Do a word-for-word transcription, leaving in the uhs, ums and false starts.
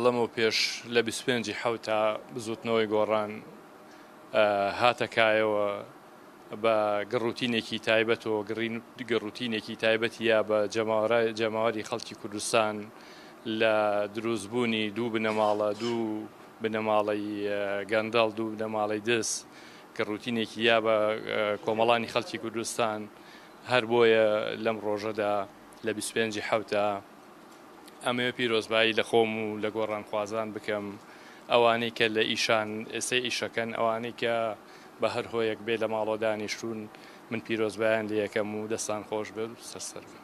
لەمەو پێش لە بیست و پێنج ی حەوتا بزوتنەوەی گۆڕان هاتە کایەوە بە گڕوتینێکی تایبەتەوە، گڕوتینێکی تایبەتی یا بە جەماوەری خەڵکی کوردستان لە دروستبوونی دوو بنەماڵە، دوو بنەماڵەی گەندەڵ، دوو بنەماڵەی دز، گڕوتینێکی یا بە کۆمەڵانی خەڵکی کوردستان. هەر بۆیە لەم ڕۆژەدا لە بیست و پێنج ی حەوتا ئەمەوێ پیرۆزبایی لە خۆم و لە گۆڕانخوازان بکەم، ئەوانەی کە لە ئیشان ئێستا ئیشەکەن، ئەوانەی کە بە هەر هۆیەک بێ لە ماڵەوە دانیشتون، من پیرۆزبایان لێ یەکەم و دەستان خۆش بێت و سەرسەر بن.